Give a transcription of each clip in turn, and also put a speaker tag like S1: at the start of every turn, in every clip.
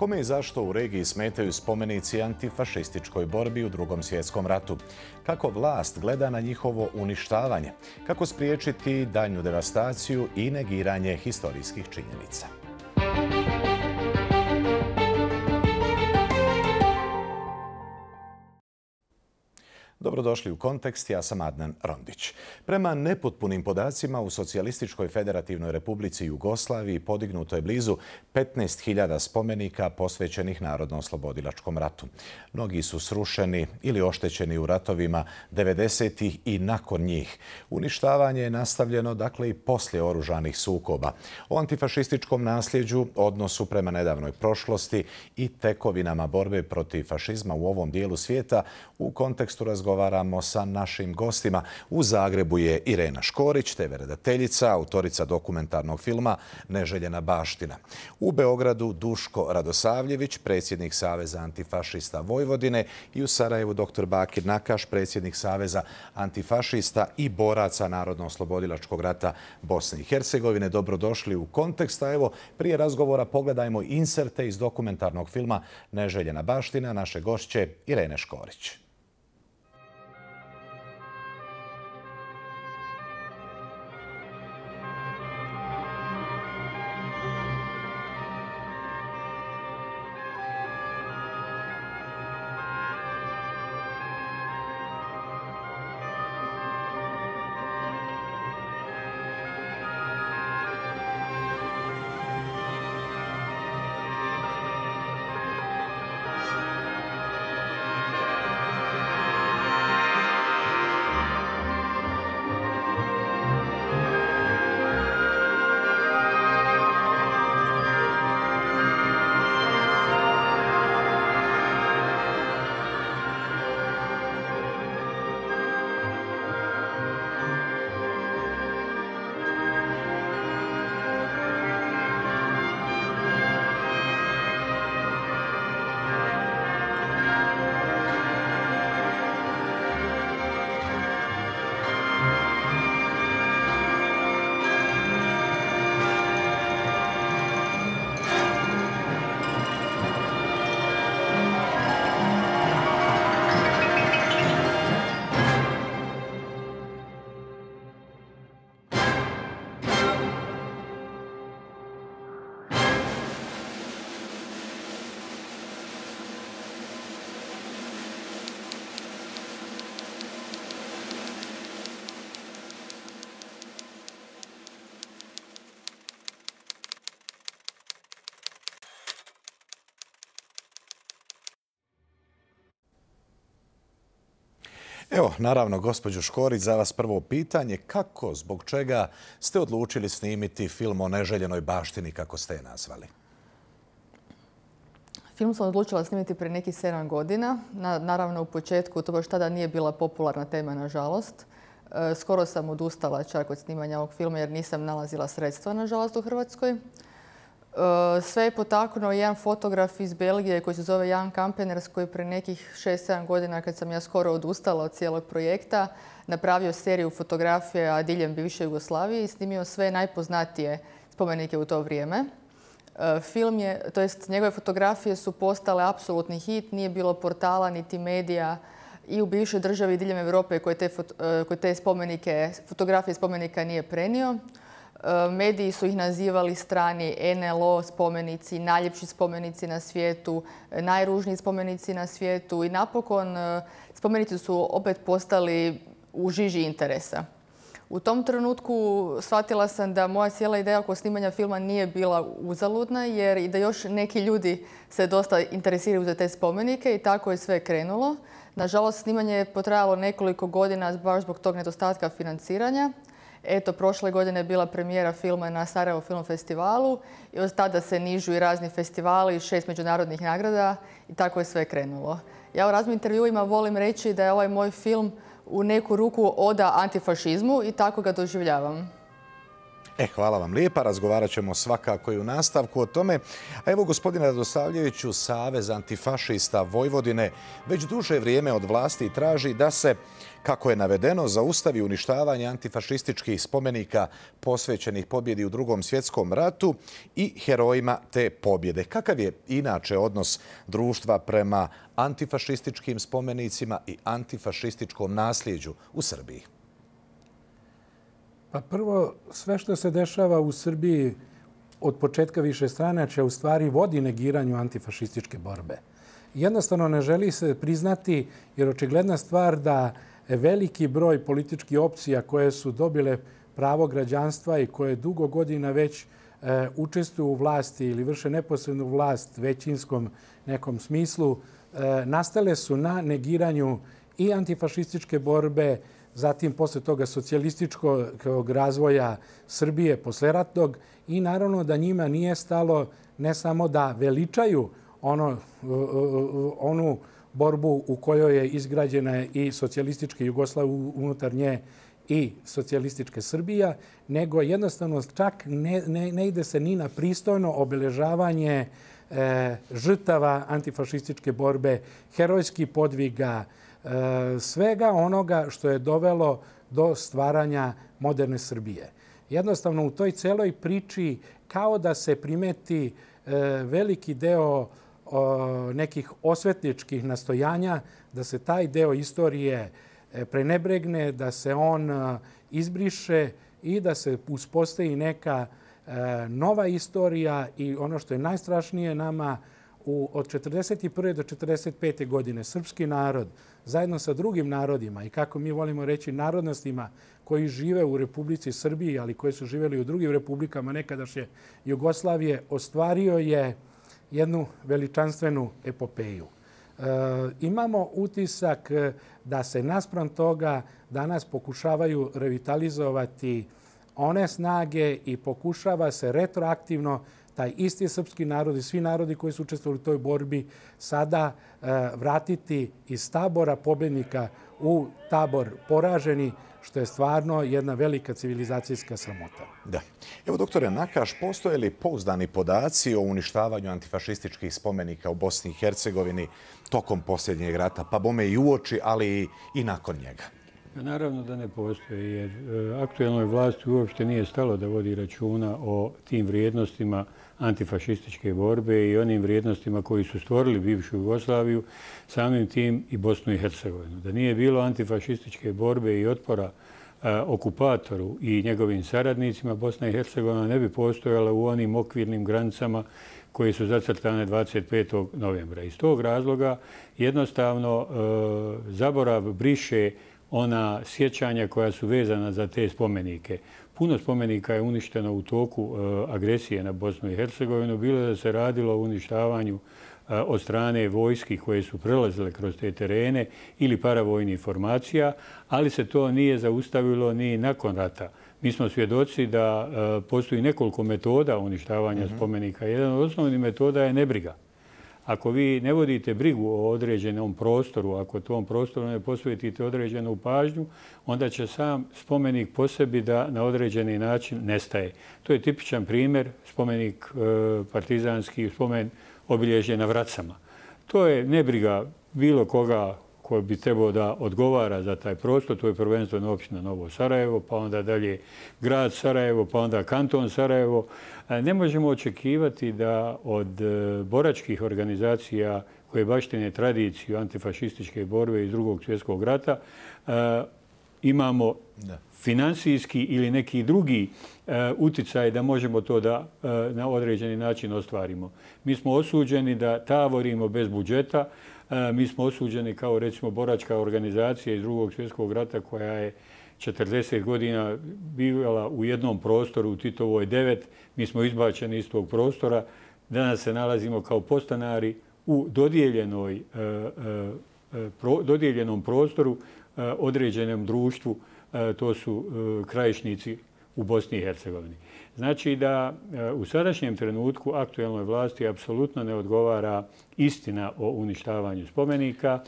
S1: Kome i zašto u regiji smetaju spomenici antifašističkoj borbi u Drugom svjetskom ratu? Kako vlast gleda na njihovo uništavanje? Kako spriječiti daljnju devastaciju i negiranje historijskih činjenica? Dobrodošli u Kontekst, ja sam Adnan Rondić. Prema nepotpunim podacima u Socijalističkoj federativnoj republici Jugoslaviji podignuto je blizu 15.000 spomenika posvećenih Narodno-oslobodilačkom ratu. Mnogi su srušeni ili oštećeni u ratovima 90-ih i nakon njih. Uništavanje je nastavljeno dakle i poslije oružanih sukoba. O antifašističkom nasljeđu, odnosu prema nedavnoj prošlosti i tekovinama borbe protiv fašizma u ovom dijelu svijeta u kontekstu razgovaramo sa našim gostima. U Zagrebu je Irena Škorić, TV redateljica, autorica dokumentarnog filma Neželjena baština. U Beogradu Duško Radosavljević, predsjednik Saveza antifašista Vojvodine, i u Sarajevu dr. Bakir Nakaš, predsjednik Saveza antifašista i boraca Narodno-oslobodilačkog rata Bosne i Hercegovine. Dobrodošli u Kontekst. A evo, prije razgovora pogledajmo inserte iz dokumentarnog filma Neželjena baština naše gošće Irene Škorić. Evo, naravno, gospođo Škorić, za vas prvo pitanje. Kako, zbog čega ste odlučili snimiti film o neželjenoj baštini, kako ste je nazvali?
S2: Film sam odlučila snimiti prije nekih 7 godina. Naravno, u početku to baš tada nije bila popularna tema, nažalost. Skoro sam odustala čak od snimanja ovog filma jer nisam nalazila sredstva, nažalost, u Hrvatskoj. Sve je potaknuo jedan fotograf iz Belgije koji se zove Jan Kampeners, koji prije nekih 6-7 godina, kad sam ja skoro odustala od cijelog projekta, napravio seriju fotografija diljem bivše Jugoslavije i snimio sve najpoznatije spomenike u to vrijeme. Njegove fotografije su postale apsolutni hit, nije bilo portala niti medija i u bivšoj državi diljem Europe koji te fotografije spomenika nije prenio. Mediji su ih nazivali strani NLO spomenici, najljepši spomenici na svijetu, najružniji spomenici na svijetu i napokon spomenici su opet postali u žiži interesa. U tom trenutku shvatila sam da moja cijela ideja oko snimanja filma nije bila uzaludna jer i da još neki ljudi se dosta interesiraju za te spomenike i tako je sve krenulo. Nažalost, snimanje je potrajalo nekoliko godina baš zbog tog nedostatka financiranja. Eto, prošle godine je bila premijera filma na Sarajevo Film Festivalu i od tada se nižu i razni festivali, 6 međunarodnih nagrada i tako je sve krenulo. Ja u raznim intervjuima volim reći da je ovaj moj film u neku ruku oda antifašizmu i tako ga doživljavam.
S1: Hvala vam lijepa. Razgovarat ćemo svakako i u nastavku o tome. A evo, gospodine Radosavljeviću, Savez antifašista Vojvodine već duže vrijeme od vlasti traži da se, kako je navedeno, zaustavi uništavanje antifašističkih spomenika posvećenih pobjedi u Drugom svjetskom ratu i herojima te pobjede. Kakav je inače odnos društva prema antifašističkim spomenicima i antifašističkom nasljeđu u Srbiji?
S3: Pa prvo, sve što se dešava u Srbiji od početka višestranačja u stvari vodi negiranju antifašističke borbe. Jednostavno ne želi se priznati, jer očigledna stvar da veliki broj političkih opcija koje su dobile pravo građanstva i koje dugo godina već učestvuju u vlasti ili vrše neposrednu vlast većinskom nekom smislu, nastale su na negiranju i antifašističke borbe, zatim posle toga socijalističkog razvoja Srbije posleratnog i naravno da njima nije stalo ne samo da veličaju onu borbu u kojoj je izgrađena i socijalistička Jugoslavija unutar nje i socijalistička Srbija, nego jednostavno čak ne ide se ni na pristojno obeležavanje žrtava antifašističke borbe, herojskih podviga, svega onoga što je dovelo do stvaranja moderne Srbije. Jednostavno u toj celoj priči kao da se primeti veliki deo nekih osvetničkih nastojanja, da se taj deo istorije prenebregne, da se on izbriše i da se uspostavi neka nova istorija i ono što je najstrašnije nama od 1941. do 1945. godine srpski narod zajedno sa drugim narodima i kako mi volimo reći narodnostima koji žive u Republici Srbiji, ali koji su živjeli u drugim republikama nekadašnje Jugoslavije, ostvario je jednu veličanstvenu epopeju. Imamo utisak da se naspram toga danas pokušavaju revitalizovati one snage i pokušava se retroaktivno taj isti srpski narod i svi narodi koji su učestvovali u toj borbi sada vratiti iz tabora pobjednika u tabor poraženi, što je stvarno jedna velika civilizacijska sramota.
S1: Da. Evo, doktore Nakaš, postoje li pouzdani podaci o uništavanju antifašističkih spomenika u Bosni i Hercegovini tokom posljednjeg rata, pa bome i uoči, ali i nakon njega?
S4: Naravno da ne postoji, jer aktuelnoj vlasti uopšte nije stalo da vodi računa o tim vrijednostima antifašističke borbe i onim vrijednostima koji su stvorili bivšu Jugoslaviju, samim tim i Bosnu i Hercegovinu. Da nije bilo antifašističke borbe i otpora okupatoru i njegovim saradnicima, Bosna i Hercegovina ne bi postojala u onim okvirnim granicama koje su zacrtane 25. novembra. Iz tog razloga jednostavno zaborav briše ona sjećanja koja su vezana za te spomenike. Puno spomenika je uništeno u toku agresije na Bosnu i Hercegovinu, bilo da se radilo o uništavanju od strane vojski koje su prelazile kroz te terene ili paravojnih formacija, ali se to nije zaustavilo ni nakon rata. Mi smo svjedoci da postoji nekoliko metoda uništavanja spomenika. Jedan od osnovnih metoda je nebriga. Ako vi ne vodite brigu o određenom prostoru, ako tom prostoru ne posvetite određenu pažnju, onda će sam spomenik po sebi da na određeni način nestaje. To je tipičan primjer, spomenik partizanski, spomen obilježje na Vracama. To je nebriga bilo koga koji bi trebao da odgovara za taj prostor. To je prvenstveno općina Novo Sarajevo, pa onda dalje grad Sarajevo, pa onda kanton Sarajevo. Ne možemo očekivati da od boračkih organizacija koje baštine tradiciju antifašističke borbe iz Drugog svjetskog rata imamo finansijski ili neki drugi uticaj da možemo to da na određeni način ostvarimo. Mi smo osuđeni da tavorimo bez budžeta. Mi smo osuđeni kao recimo boračka organizacija iz Drugog svjetskog rata koja je 40 godina bivala u jednom prostoru u Titovoj 9. Mi smo izbačeni iz tog prostora. Danas se nalazimo kao podstanari u dodijeljenom prostoru određenom društvu. To su krajišnici u Bosni i Hercegovini. Znači da u sadašnjem trenutku aktuelnoj vlasti apsolutno ne odgovara istina o uništavanju spomenika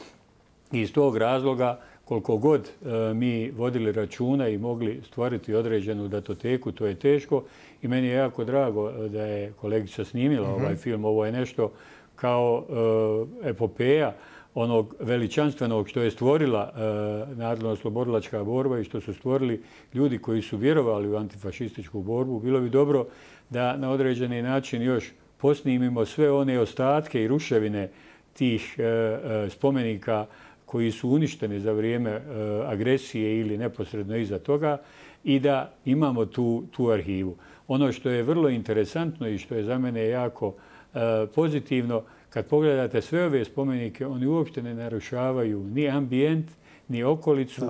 S4: i iz tog razloga koliko god mi vodili računa i mogli stvoriti određenu datoteku, to je teško. I meni je jako drago da je kolegica snimila ovaj film. Ovo je nešto kao epopeja onog veličanstvenog što je stvorila narodno-oslobodilačka borba i što su stvorili ljudi koji su vjerovali u antifašističku borbu. Bilo bi dobro da na određeni način još posnimimo sve one ostatke i ruševine tih spomenika koji su uništeni za vrijeme agresije ili neposredno iza toga i da imamo tu arhivu. Ono što je vrlo interesantno i što je za mene jako pozitivno, kad pogledate sve ove spomenike, oni uopšte ne narušavaju ni ambijent, ni okolicu,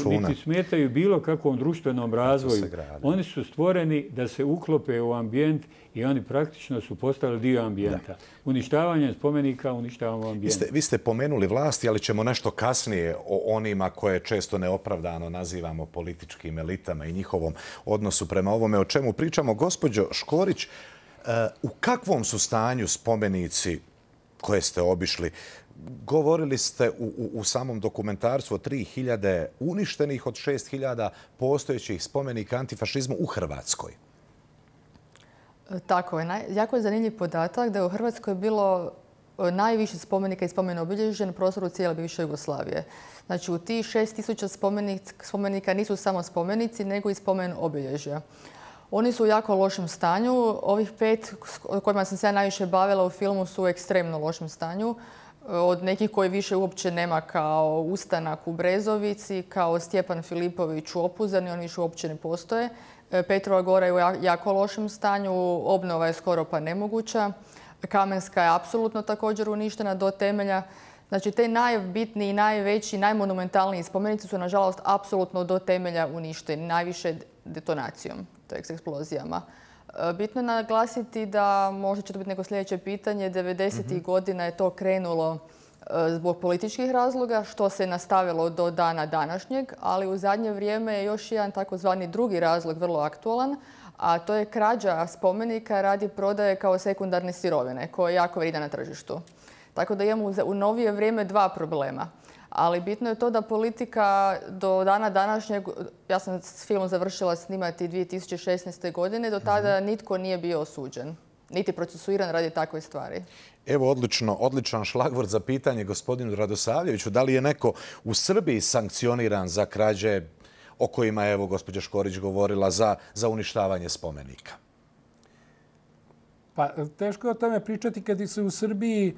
S4: niti smetaju bilo kakvom društvenom razvoju. Oni su stvoreni da se uklope u ambijent i oni praktično su postali dio ambijenta. Uništavanjem spomenika uništavamo ambijent.
S1: Vi ste pomenuli vlasti, ali ćemo nešto kasnije o onima koje često neopravdano nazivamo političkim elitama i njihovom odnosu prema ovome o čemu pričamo. Gospođo Škorić, u kakvom su stanju spomenici koje ste obišli? Govorili ste u samom dokumentarstvu o 3.000 uništenih od 6.000 postojećih spomenika antifašizmu u Hrvatskoj.
S2: Tako je. Jako je zanimljiv podatak da je u Hrvatskoj bilo najviše spomenika i spomen obilježja na prostoru cijele bivše Jugoslavije. Znači u tih 6.000 spomenika nisu samo spomenici, nego i spomen obilježja. Oni su u jako lošem stanju. Ovih 5 kojima sam se ja najviše bavila u filmu su u ekstremno lošem stanju. Od nekih koji više uopće nema, kao Ustanak u Brezovici, kao Stjepan Filipović u Opuzani, oni više uopće ne postoje. Petrova Gora je u jako lošem stanju, obnova je skoro pa nemoguća. Kamenska je apsolutno također uništena do temelja. Znači, te najbitniji, najveći, najmonumentalniji spomenici su, nažalost, apsolutno do temelja uništeni, najviše detonacijom, to je eksplozijama. Bitno je naglasiti da, možda će to biti neko sljedeće pitanje, 90. godina je to krenulo zbog političkih razloga, što se nastavilo do dana današnjeg, ali u zadnje vrijeme je još jedan takozvani drugi razlog vrlo aktualan, a to je krađa spomenika radi prodaje kao sekundarne sirovine, koja je jako vrijedna na tržištu. Tako da imamo u novije vrijeme 2 problema. Ali bitno je to da politika do dana današnjeg, ja sam film završila snimati 2016. godine, do tada nitko nije bio osuđen, niti procesuiran radi takve stvari.
S1: Evo odličan šlagvort za pitanje gospodinu Radosavljeviću. Da li je neko u Srbiji sankcioniran za krađe o kojima je, evo, gospođa Škorić govorila, za uništavanje spomenika?
S3: Pa teško je o tome pričati kad se u Srbiji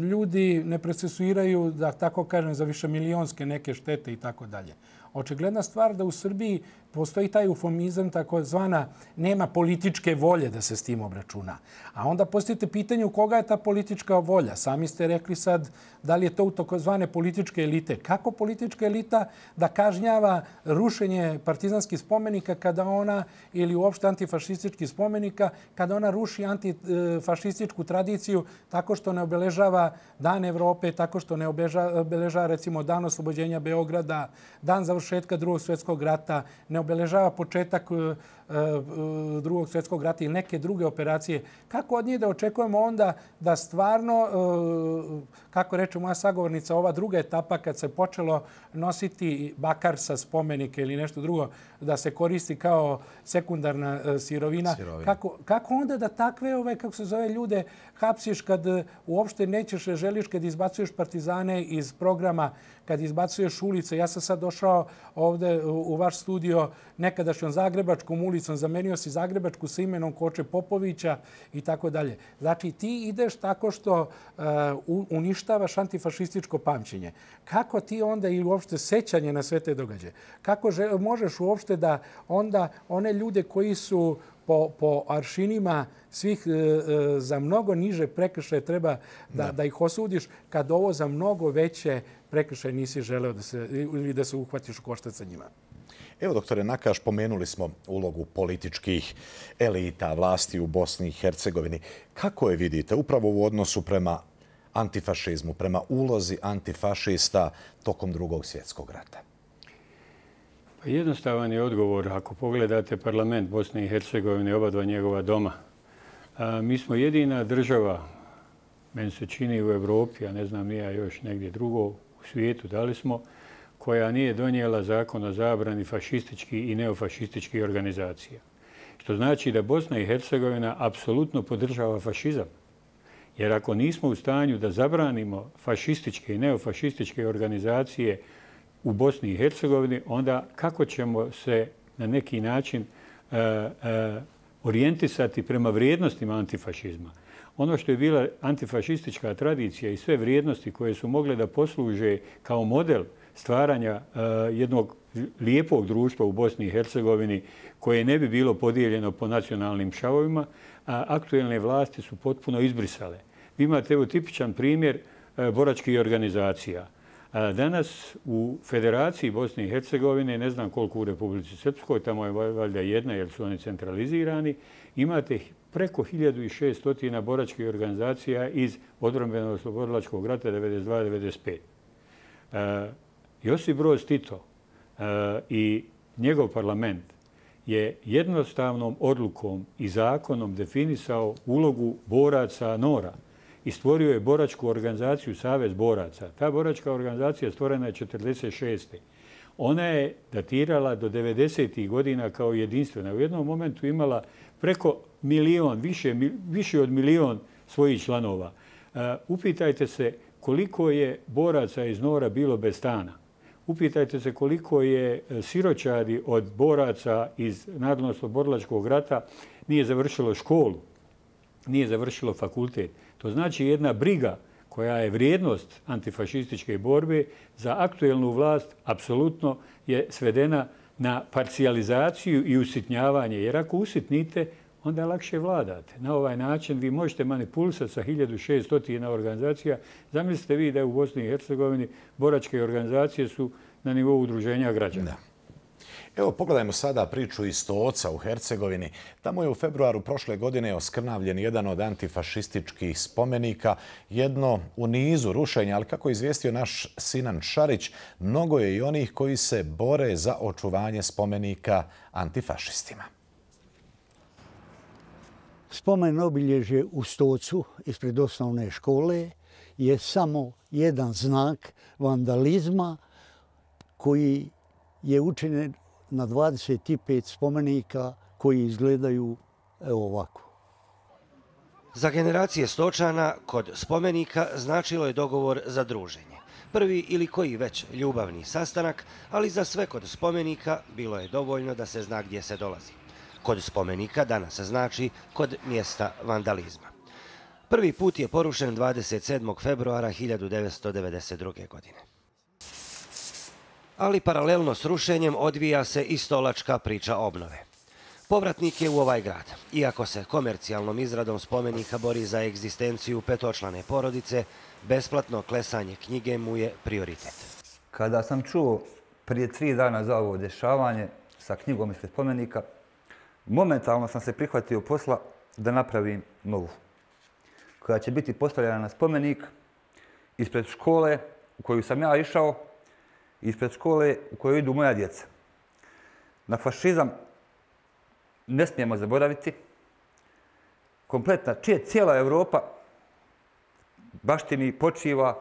S3: ljudi ne procesuiraju, da tako kažem, za višemilionske neke štete i tako dalje. Očigledna stvar da u Srbiji postoji taj eufemizam, takozvana nema političke volje da se s tim obračuna. A onda postavite pitanje u koga je ta politička volja. Sami ste rekli sad da li je to u takozvane političke elite. Kako politička elita da kažnjava rušenje partizanskih spomenika kada ona, ili uopšte antifašističkih spomenika, kada ona ruši antifašističku tradiciju tako što ne obeležava Dan Evrope, tako što ne obeležava recimo Dan oslobođenja Beograda, dan završetka Drugog svjetskog rata, ne obeležava početak Drugog svjetskog rata ili neke druge operacije. Kako od nje da očekujemo onda da stvarno, kako reče moja sagovornica, ova druga etapa kad se počelo nositi bakar sa spomenike ili nešto drugo, da se koristi kao sekundarna sirovina. Kako onda da takve, kako se zove, ljude hapsiš kad uopšte nećeš, želiš, kad izbacuješ partizane iz programa, kad izbacuješ ulice. Ja sam sad došao ovde u vaš studio nekadašnjom Zagrebačkom ulicom, zamenio si Zagrebačku sa imenom Koče Popovića i tako dalje. Znači, ti ideš tako što uništavaš antifašističko pamćenje. Kako ti onda i uopšte sećanje na sve te događaje? Kako možeš uopšte da onda one ljude koji su po aršinima svih za mnogo niže prekršaje treba da ih osudiš, kad ovo za mnogo veće prekršaje nisi želeo da se uhvatiš u koštac sa njima?
S1: Evo, doktore Nakaš, pomenuli smo ulogu političkih elita, vlasti u Bosni i Hercegovini. Kako je vidite upravo u odnosu prema antifašizmu, prema ulozi antifašista tokom Drugog svjetskog rata?
S4: Pa jednostavan je odgovor. Ako pogledate parlament Bosne i Hercegovine, oba dva njegova doma, mi smo jedina država, meni se čini, u Evropi, a ne znam nija još negdje drugo, u u svijetu, dali smo, koja nije donijela zakon o zabrani fašističkih i neofašističkih organizacija. Što znači da Bosna i Hercegovina apsolutno podržava fašizam. Jer ako nismo u stanju da zabranimo fašističke i neofašističke organizacije u Bosni i Hercegovini, onda kako ćemo se na neki način orijentisati prema vrijednostima antifašizma? Ono što je bila antifašistička tradicija i sve vrijednosti koje su mogle da posluže kao model stvaranja jednog lijepog društva u Bosni i Hercegovini koje ne bi bilo podijeljeno po nacionalnim šavovima, a aktuelne vlasti su potpuno izbrisale. Vi imate evo tipičan primjer boračkih organizacija. Danas u Federaciji Bosne i Hercegovine, ne znam koliko u Republici Srpskoj, tamo je valjda jedna jer su oni centralizirani, imate preko 1600 boračkih organizacija iz odbrambenog oslobodilačkog rata 92-95. Josip Broz Tito i njegov parlament je jednostavnom odlukom i zakonom definisao ulogu boraca NOR-a i stvorio je boračku organizaciju Savez boraca. Ta boračka organizacija stvorena je 1946. Ona je datirala do 90. godina kao jedinstvena. U jednom momentu imala preko milion, više od milion svojih članova. Upitajte se koliko je boraca iz NOR-a bilo bez stana. Upitajte se koliko je siročadi od boraca iz Narodno-oslobodilačkog rata nije završilo školu, nije završilo fakultet. To znači jedna briga koja je vrijednost antifašističke borbe za aktuelnu vlast apsolutno je svedena na parcijalizaciju i usitnjavanje. Jer ako usitnite, onda lakše vladate. Na ovaj način vi možete manipulisati sa 1600 organizacija. Zamislite vi da u Bosni i Hercegovini boračke organizacije su na nivou udruženja građana.
S1: Da. Evo, pogledajmo sada priču iz Stoca u Hercegovini. Tamo je u februaru prošle godine oskrnavljen jedan od antifašističkih spomenika, jedno u nizu rušenja, ali kako je izvijestio naš Sinan Šarić, mnogo je i onih koji se bore za očuvanje spomenika antifašistima.
S5: Spomen obilježje u Stocu ispred osnovne škole je samo jedan znak vandalizma koji je učinjen na 25 spomenika koji izgledaju ovako.
S6: Za generacije Stočana kod spomenika značilo je dogovor za druženje. Prvi ili koji već ljubavni sastanak, ali za sve kod spomenika bilo je dovoljno da se zna gdje se dolazi. Kod spomenika danas znači kod mjesta vandalizma. Prvi put je porušen 27. februara 1992. godine. Ali paralelno s rušenjem odvija se i stolačka priča obnove. Povratnik je u ovaj grad. Iako se komercijalnom izradom spomenika bori za egzistenciju petočlane porodice, besplatno klesanje knjige mu je prioritet.
S7: Kada sam čuo prije 3 dana za ovo dešavanje sa knjigom ispred spomenika, momentalno sam se prihvatio posla da napravim novu, koja će biti postavljena na spomenik ispred škole u koju sam ja išao, ispred škole u kojoj idu moja djeca. Na fašizam ne smijemo zaboraviti. Kompletna, cijela Europa baštini počiva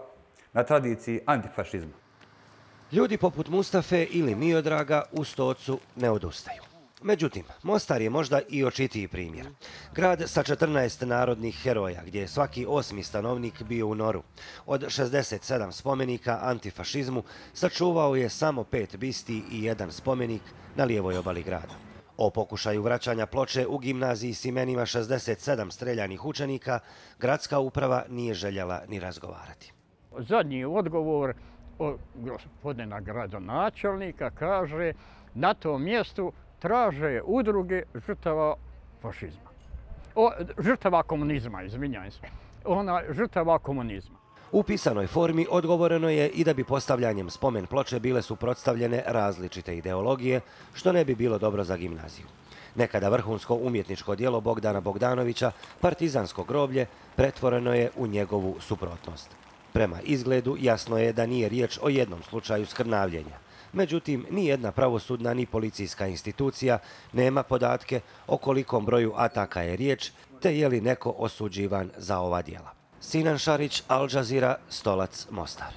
S7: na tradiciji antifašizma.
S6: Ljudi poput Mustafe ili Miodraga u Stocu ne odustaju. Međutim, Mostar je možda i očitiji primjer. Grad sa 14 narodnih heroja, gdje je svaki 8. stanovnik bio u NOR-u. Od 67 spomenika antifašizmu sačuvao je samo 5 bisti i 1 spomenik na lijevoj obali grada. O pokušaju vraćanja ploče u gimnaziji s imenima 67 streljanih učenika gradska uprava nije željela ni razgovarati.
S8: Zadnji odgovor od gospodina gradonačelnika kaže na tom mjestu traže udruge žrtava fašizma. Žrtava komunizma, izvinjam se. Žrtava komunizma.
S6: U pisanoj formi odgovoreno je i da bi postavljanjem spomen ploče bile suprotstavljene različite ideologije, što ne bi bilo dobro za gimnaziju. Nekada vrhunsko umjetničko djelo Bogdana Bogdanovića, partizansko groblje, pretvoreno je u njegovu suprotnost. Prema izgledu jasno je da nije riječ o jednom slučaju skrnavljenja. Međutim, ni jedna pravosudna ni policijska institucija nema podatke o kolikom broju ataka je riječ, te je li neko osuđivan za ova djela. Sinan Šarić, Al Jazeera, Stolac, Mostar.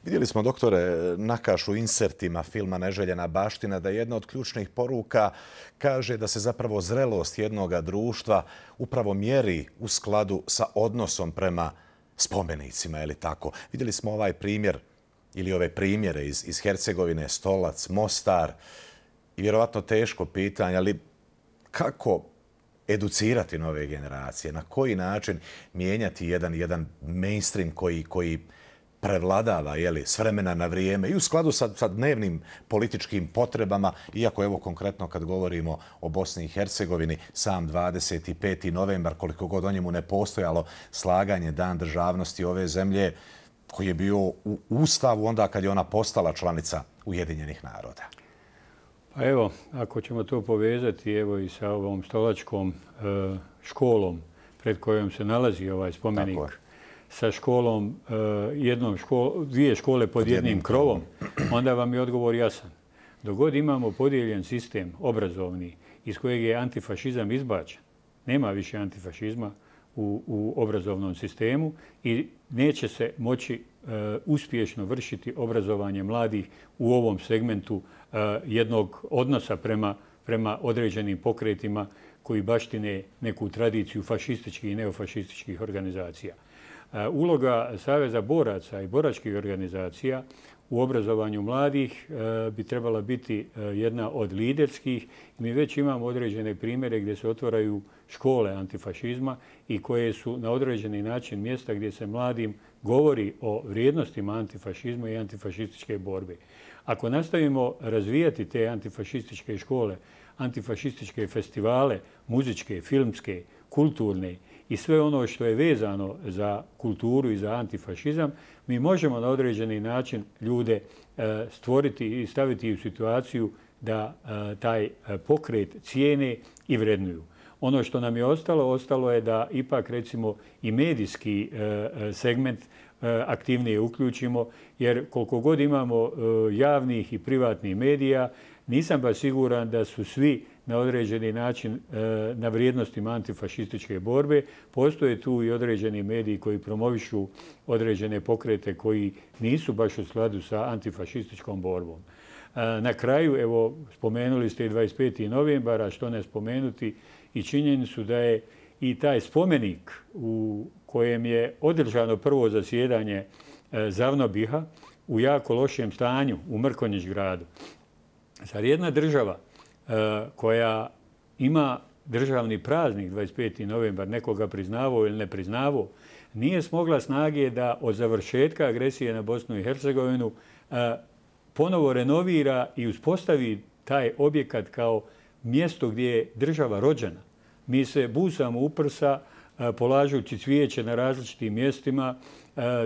S1: Vidjeli smo, doktore Nakaš, u insertima filma Neželjena baština da jedna od ključnih poruka kaže da se zapravo zrelost jednoga društva upravo mjeri u skladu sa odnosom prema spomenicima, je li tako? Vidjeli smo ovaj primjer ili ove primjere iz Hercegovine, Stolac, Mostar i vjerovatno teško pitanje, ali kako educirati nove generacije? Na koji način mijenjati jedan mainstream koji prevladava s vremena na vrijeme i u skladu sa dnevnim političkim potrebama, iako evo konkretno kad govorimo o Bosni i Hercegovini, sam 25. novembar, koliko god o njemu ne postojalo slaganje Dan državnosti ove zemlje, koji je bio u Ustavu onda kad je ona postala članica Ujedinjenih naroda.
S4: Pa evo, ako ćemo to povezati evo i sa ovom stolačkom školom pred kojom se nalazi ovaj spomenik, sa školom, dvije škole pod jednim krovom, onda vam je odgovor jasan. Dok god imamo podijeljen sistem obrazovni iz kojeg je antifašizam izbačen, nema više antifašizma u obrazovnom sistemu i neće se moći uspješno vršiti obrazovanje mladih u ovom segmentu jednog odnosa prema određenim pokretima koji baštine neku tradiciju fašističkih i neofašističkih organizacija. Uloga Saveza boraca i boračkih organizacija u obrazovanju mladih bi trebala biti jedna od liderskih. Mi već imamo određene primjere gdje se otvaraju škole antifašizma i koje su na određeni način mjesta gdje se mladim govori o vrijednostima antifašizma i antifašističke borbe. Ako nastavimo razvijati te antifašističke škole, antifašističke festivale, muzičke, filmske, kulturne i sve ono što je vezano za kulturu i za antifašizam, mi možemo na određeni način ljude stvoriti i staviti u situaciju da taj pokret cijene i vrednuju. Ono što nam je ostalo je da ipak recimo i medijski segment aktivnije uključimo, jer koliko god imamo javnih i privatnih medija, nisam baš siguran da su svi na određeni način na vrijednostima antifašističke borbe. Postoje tu i određeni mediji koji promovišu određene pokrete koji nisu baš u skladu sa antifašističkom borbom. Na kraju, evo, spomenuli ste i 25. novembara, što ne spomenuti, i činjenicu da je i taj spomenik u kojem je održano prvo zasjedanje Zavnobiha u jako lošem stanju u Mrkonjić gradu. Zar jedna država koja ima državni praznik 25. novembar, nekoga priznavao ili ne priznavao, nije smogla snage da od završetka agresije na Bosnu i Hercegovinu ponovo renovira i uspostavi taj objekat kao mjesto gdje je država rođena. Mi se busamo u prsa polažući cvijeće na različitim mjestima,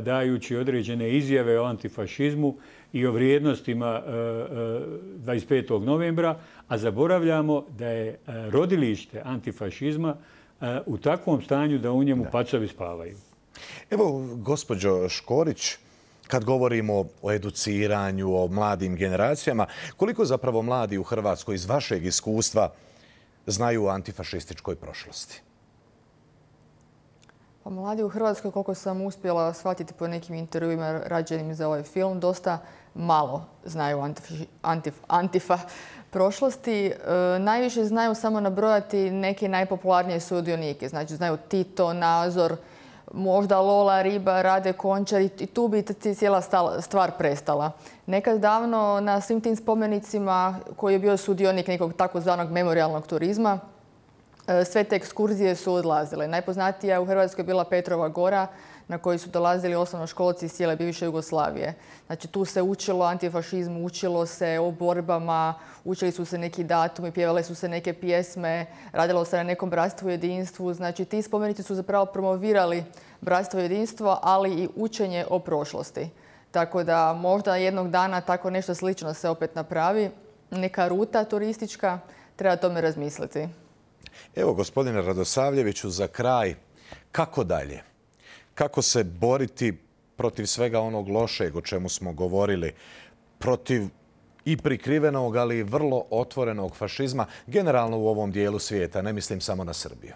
S4: dajući određene izjave o antifašizmu i o vrijednostima 25. novembra, a zaboravljamo da je rodilište antifašizma u takvom stanju da u njemu pacovi spavaju.
S1: Evo, gospođo Škorić, kad govorimo o educiranju, o mladim generacijama, koliko zapravo mladi u Hrvatskoj iz vašeg iskustva znaju o antifašističkoj prošlosti?
S2: Pa mladi u Hrvatskoj, koliko sam uspjela shvatiti po nekim intervjuima rađenim za ovaj film, dosta malo znaju antifa prošlosti. Najviše znaju samo nabrojati neke najpopularnije sudionike. Znači znaju Tito, Nazor, možda Lola, Riba, Rade Končar i tu bi cijela stvar prestala. Nekad davno na svim tim spomenicima koji je bio sudionik nekog takozvanog memorijalnog turizma, sve te ekskurzije su odlazile. Najpoznatija u Hrvatskoj je bila Petrova Gora, na koji su dolazili osnovnoškolci iz cijele bivše Jugoslavije. Znači tu se učilo o antifašizmu, učilo se o borbama, učili su se neki datumi, pjevale su se neke pjesme, radilo se na nekom bratstvu i jedinstvu. Znači ti spomenici su zapravo promovirali bratstvo i jedinstvo, ali i učenje o prošlosti. Tako da možda jednog dana tako nešto slično se opet napravi. Neka ruta turistička, treba tome razmisliti.
S1: Evo, gospodine Radosavljeviću, za kraj, kako dalje? Kako se boriti protiv svega onog lošeg o čemu smo govorili, protiv i prikrivenog, ali i vrlo otvorenog fašizma, generalno u ovom dijelu svijeta, ne mislim samo na Srbiju?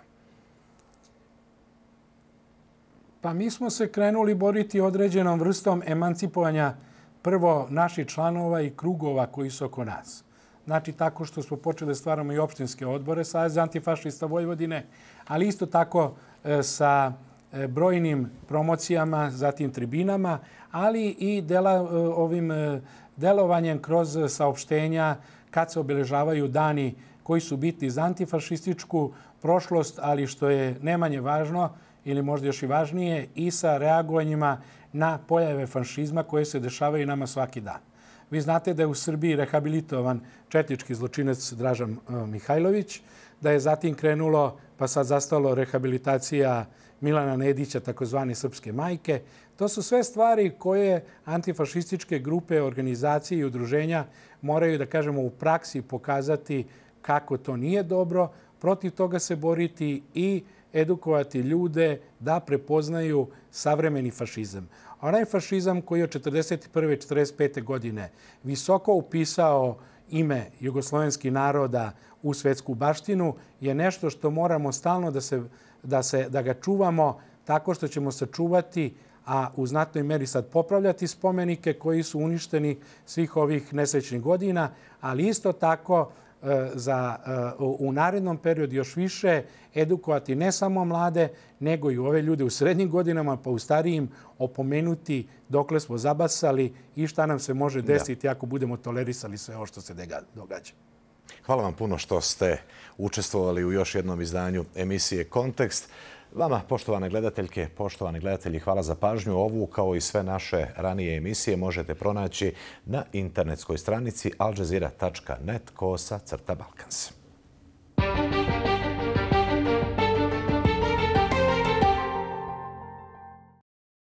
S3: Pa mi smo se krenuli boriti određenom vrstom emancipovanja prvo naših članova i krugova koji su oko nas. Znači tako što smo počeli da stvaramo i opštinske odbore Saveza antifašista Vojvodine, ali isto tako sa brojnim promocijama, zatim tribinama, ali i ovim delovanjem kroz saopštenja kad se obeležavaju dani koji su bitni za antifašističku prošlost, ali što je ne manje važno ili možda još i važnije, i sa reagovanjima na pojave fašizma koje se dešavaju nama svaki dan. Vi znate da je u Srbiji rehabilitovan četnički zločinac Dražan Mihajlović, da je zatim krenulo, pa sad zastalo, rehabilitacija Milana Nedića, takozvane Srpske majke. To su sve stvari koje antifašističke grupe, organizacije i udruženja moraju, da kažemo, u praksi pokazati kako to nije dobro, protiv toga se boriti i edukovati ljude da prepoznaju savremeni fašizam. Onaj fašizam koji je od 1941. i 1945. godine visoko upisao ime jugoslovenskih naroda u svetsku baštinu je nešto što moramo stalno da ga čuvamo tako što ćemo sačuvati, a u znatnoj meri sad popravljati spomenike koji su uništeni svih ovih nesrećnih godina, ali isto tako u narednom periodu još više edukovati ne samo mlade, nego i ove ljude u srednjim godinama, pa u starijim opomenuti dokle smo zabasali i šta nam se može desiti ako budemo tolerisali sve ovo što se događa.
S1: Hvala vam puno što ste učestvovali u još jednom izdanju emisije Kontekst. Vama, poštovane gledateljke, poštovani gledatelji, hvala za pažnju. Ovu, kao i sve naše ranije emisije, možete pronaći na internetskoj stranici aljazeera.net/Balkans.